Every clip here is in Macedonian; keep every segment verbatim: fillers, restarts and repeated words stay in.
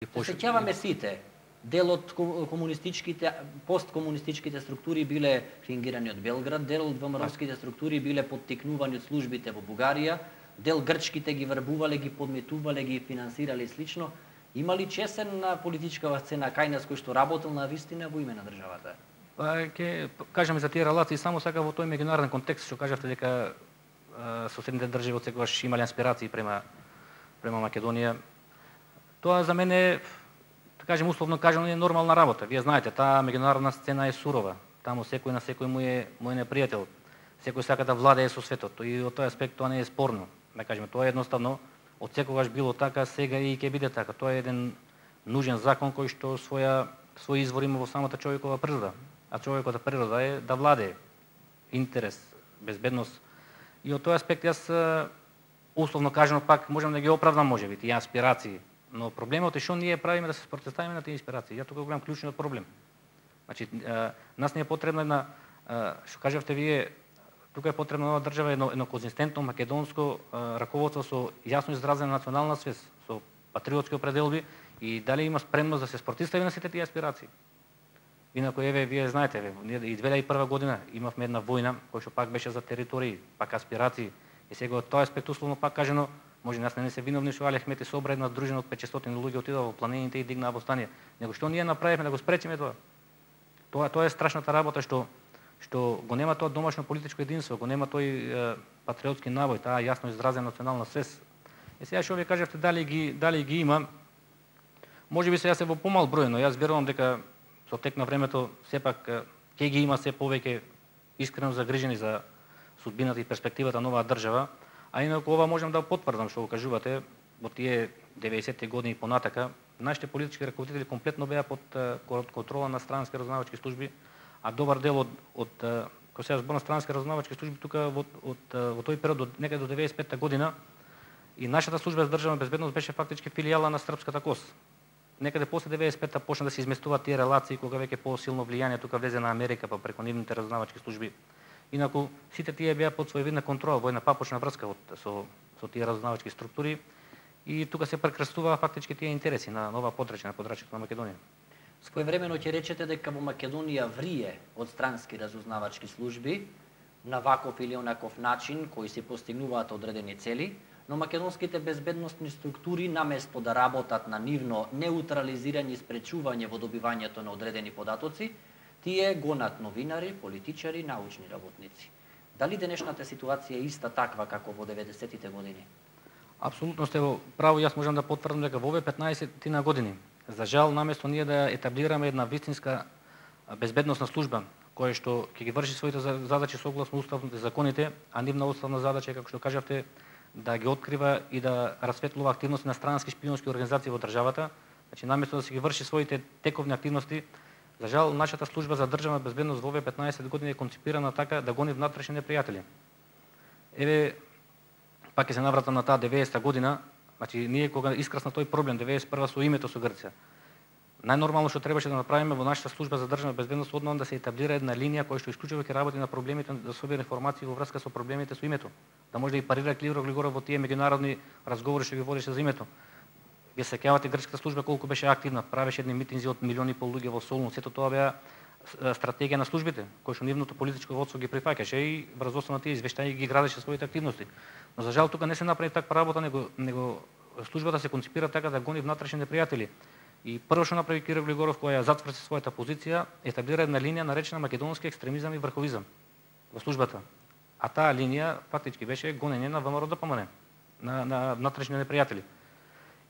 Се сеќаваме сите. Дел од комунистичките, посткомунистичките структури биле фингирани од Белград, дел од ВМРО-ските структури биле поттикнувани од службите во Бугарија, дел грчките ги врбувале, ги подметувале, ги финансирале и слично. Има ли чесен на политичкава сцена кај нас кој што работел на вистина во име на државата? Па ќе кажеме за тие релации само сака во тој меѓународен контекст што кажавте дека соседните држави отсекогаш имале инспирации према према Македонија. Тоа за мене, да кажем условно кажано, е нормална работа. Вие знаете, таа меѓународна сцена е сурова. Таму секој на секој му е мој непријател. Секој сака да владее со светот и од тој аспект тоа не е спорно. Да кажеме, тоа е едноставно од секогаш било така, сега и ќе биде така. Тоа е еден нужен закон кој што своја свој извор има во самата човекова природа. А човековата природа е да владее интерес, безбедност. И од тој аспект јас условно кажано пак можам да ги оправдам можеби тие аспирации. Но проблемот е што ние правиме да се спротивставиме на тие инспирации. Ја тука го гледам клучниот проблем. Значи, нас не е потребна една, што кажавте вие, тука е потребна нова држава, едно, едно конзистентно македонско раководство со јасно изразена национална свест, со патриотски определби и дали има спремност да се спротивстави на сите тие аспирации. Инаку, еве, вие знаете, еве, и две илјади и прва година имавме една војна, која што пак беше за територии, пак аспирации. И сега од тој аспект условно пак кажено, може нас не се виновни што Али Ахмет и Собра, една дружина од петстотини луѓе отидоа во планините и дигнаа восстание. Него што ние направивме да го спречиме тоа? Тоа тоа е страшната работа што што го нема тоа домашно политичко единство, го нема тој е, патриотски навој, таа јасно изразена национална свест. И сега што ви кажавте дали ги дали ги има, можеби сега се во помал број, но јас верувам дека со тек на времето сепак ќе ги има се повеќе искрено загрижени за судбината и перспективата на оваа држава. А инаку ова можам да потврдам што го кажувате, во тие деветдесетти години и понатака, нашите политички раководители комплетно беа под контрола на странски разузнавачки служби, а добар дел од од кога се збор на странски разузнавачки служби тука во од во тој период од некаде до деветдесет и петта година и нашата служба за државна безбедност беше фактички филијала на српската КОС. Некаде после деветдесет и петта почна да се изместуваат тие релации кога веќе посилно влијание тука влезе на Америка па преку нивните разузнавачки служби. Инаку сите тие беа под своевидна контрола, војна папочна врска од, со, со тие разузнавачки структури и тука се прекрстуваа фактички тие интереси на нова подрачје, на подрачјето на Македонија. Своевремено ќе речете дека во Македонија врие од странски разузнавачки служби на ваков или онаков начин кои се постигнуваат одредени цели, но македонските безбедносни структури наместо да работат на нивно неутрализирање и спречување во добивањето на одредени податоци, тие гонат новинари, политичари, научни работници. Дали денешната ситуација е иста таква како во деветдесеттите години? Апсолутно сте во право, јас можам да потврдам дека во овие петнаесет на години, за жал, наместо ние да етаблираме една вистинска безбедносна служба, која што ќе ги врши своите задачи согласно уставните законите, а нивна уставна задача, како што кажавте, да ги открива и да расветлува активности на странски шпионски организации во државата, значи наместо да се ги врши своите тековни активности, за жал, нашата служба за државна безбедност во овие петнаесет години е концепирана така да гони внатрешни непријатели. Еве, пак ќе се навратам на таа деветдесета година, значи ние кога искрасна тој проблем деветдесет и прва со името со Грција, најнормално што требаше да направиме во нашата служба за државна безбедност одново да се етаблира една линија која што исклучиво ќе работи на проблемите, да собира информации во врска со проблемите со името, да може да и парира Кливро Глигоров во тие меѓународни разговори што ги водеше за името. Вие се сеќавате грчката служба колку беше активна, правеше едни митинзи од милиони и пол луѓе во Солун, сето тоа беа стратегија на службите, кој што нивното политичко водство ги прифаќаше и врз основа на тие извештања ги градеше своите активности. Но за жал тука не се направи таква работа, него него службата се концепира така да гони внатрешни непријатели. И прво што направи Киро Глигоров која ја затврси својата позиција, етаблира една линија наречена македонски екстремизам и врховизам во службата. А таа линија фактички беше гонење на ВМРО-ДПМН, на на внатрешни непријатели.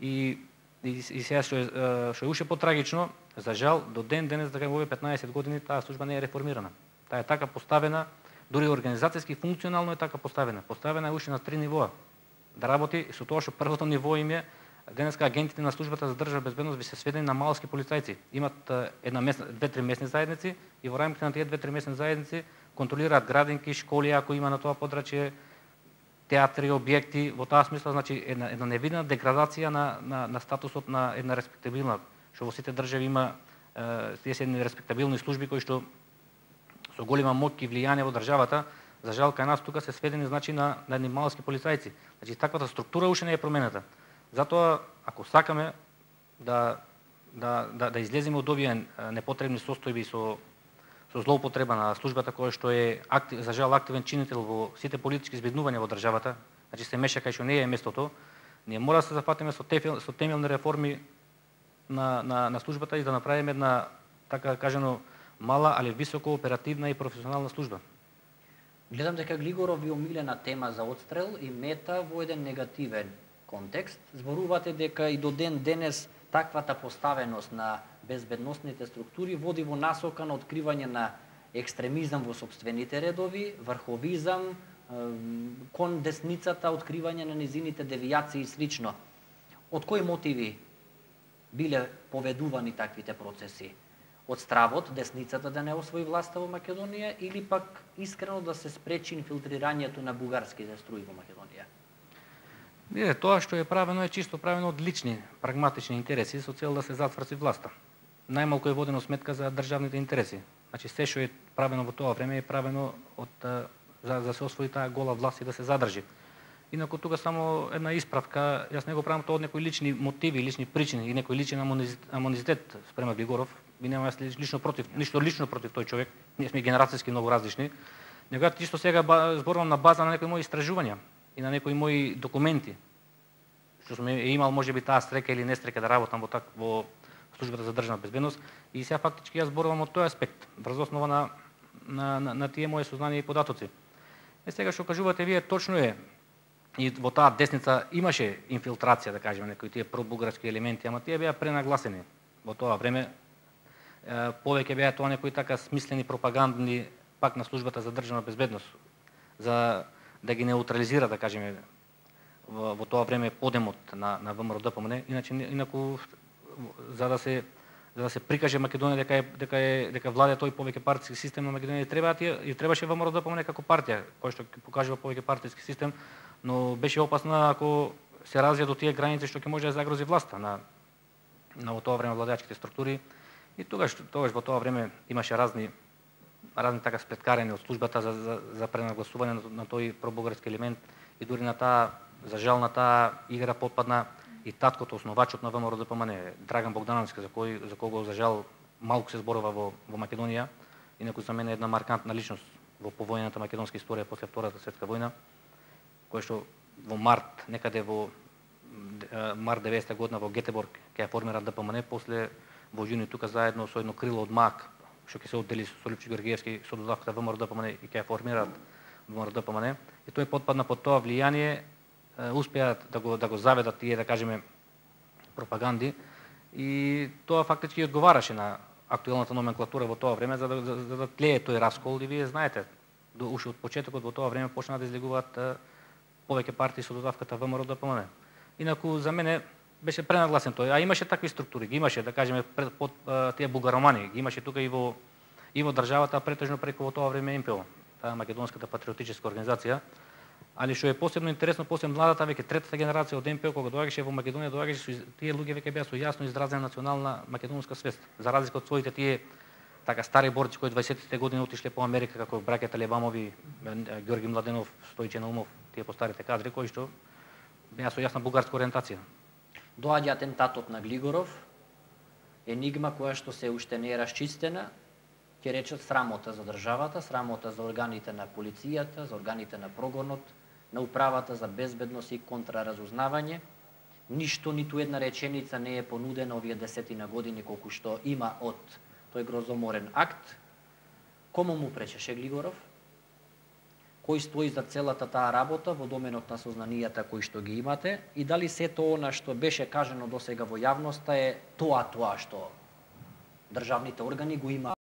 И и, и сега што е што е уште потрагично, за жал до ден денес дека во овие петнаесет години таа служба не е реформирана. Таа е така поставена, дури организацијски функционално е така поставена. Поставена е уште на три нивоа. Да работи со тоа што првото ниво им е денеска агентите на службата за државна безбедност би се сведени на малски полицајци. Имат една месна, две-три месни заедници и во рамките на тие две-три месни заедници контролираат градинки, школи ако има на тоа подрачје, театри, објекти, во таа смисла, значи една една невидна деградација на на на статусот на една респектабилна, што во сите држави има е, тие се едни респектабилни служби кои што со голема моќ и влијание во државата. За жал кај нас тука се сведени значи на на едни малски полицајци. Значи таквата структура уште не е променета. Затоа ако сакаме да да да да излеземе од овие непотребни состојби со со злоупотреба на службата која што е актив, за жал активен чинител во сите политички збеднувања во државата, значи се меша кај што не е местото. Ние мора да се зафатиме со тефел, со темелни реформи на на на службата и да направиме една, така кажано, мала, али високо оперативна и професионална служба. Гледам дека Глигоров ви омилена тема за отстрел и мета во еден негативен контекст. Зборувате дека и до ден денес таквата поставеност на безбедносните структури води во насока на откривање на екстремизам во сопствените редови, врховизам, кон десницата, откривање на низините девијации и слично. Од кои мотиви биле поведувани таквите процеси? Од стравот десницата да не освои власта во Македонија или пак искрено да се спречи инфилтрирањето на бугарските струи во Македонија? Не, тоа што е правено е чисто правено од лични, прагматични интереси со цел да се затврси власта. Најмалку е водено сметка за државните интереси. Значи се што е правено во тоа време е правено од за да се освои таа гола власт и да се задржи. Инаку тука само една исправка, јас не го правам тоа од некои лични мотиви, лични причини и некој личен амонизитет спрема Глигоров. Би нема јас лично против, ништо лично против тој човек. Ние сме генерацијски многу различни. Него чисто сега зборувам на база на некои мои истражувања и на некои мои документи, што сум имал можеби таа стрека или нестрека да работам во так во службата за државна безбедност и сега фактички јас зборувам од тој аспект врз основа на на на, на тие мои сознанија и податоци. Е сега што кажувате вие точно е и во таа десница имаше инфилтрација, да кажеме, некои тие пробугарски елементи, ама тие беа пренагласени во тоа време. Е, повеќе беа тоа некои така смислени пропагандни пак на службата за државна безбедност за да ги неутрализира, да кажеме, во, во тоа време подемот на на ВМРО-ДПМН, иначе инаку за да се за да се прикаже Македонија дека е дека е дека владее тој повеќе партиски систем на Македонија, треба и требаше ВМРО-ДПМН како партија кој што ќе покажува повеќе партиски систем, но беше опасно ако се развија до тие граници што ќе може да загрози власта на на во тоа време владеачките структури. И тогаш тогаш во тоа време имаше разни разни така сплеткарења од службата за за, за пренагласување на, на тој пробугарски елемент и дури на таа за жал на таа игра потпадна и таткото, основачот на ВМРО-ДПМН, Драган Богдановски, за кој за кого за жал малку се зборува во во Македонија, инаку за мене е една маркантна личност во повојната македонска историја после Втората светска војна, кој што во март, некаде во март деветдесета година во Гетеборг ќе ја формира ДПМН, после во јуни тука заедно со едно крило од МАК, што ќе се оддели со Лјупчо Георгиевски со додавката ВМРО-ДПМН и ќе ја формираат ВМРО-ДПМН. И тој потпадна под тоа влијание, успеа да го да го заведат тие, да кажеме, пропаганди и тоа фактички одговараше на актуелната номенклатура во тоа време за да за, за да тлее тој раскол и вие знаете, до уште од почетокот во тоа време почнаа да излегуваат повеќе партии со додавката ВМРО-ДПМН. Инаку за мене беше пренагласен тој, а имаше такви структури, ги имаше, да кажеме, пред, под тие бугаромани, ги имаше тука и во и во државата, претежно преку во тоа време ем пе о, таа македонската патриотичка организација. Али што е посебно интересно, после младата веќе третата генерација од ем пе о кога доаѓаше во Македонија, доаѓаше со тие луѓе веќе беа со јасно изразена национална македонска свест, за разлика од своите тие така стари борци кои дваесеттите години отишле по Америка, како браќата Лебамови, Ѓорги Младенов, Стојче Наумов, тие постарите кадри кои што беа со јасна бугарска ориентација. Доаѓа атентатот на Глигоров, енигма која што се уште не е расчистена, ќе речат срамота за државата, срамота за органите на полицијата, за органите на прогонот, на управата за безбедност и контраразузнавање. Ништо, ниту една реченица не е понудена овие десетина години колку што има од тој грозоморен акт. Кому му пречеше Глигоров? Кој стои за целата таа работа во доменот на сознанијата кои што ги имате и дали сето она што беше кажано досега во јавноста е тоа тоа што државните органи го има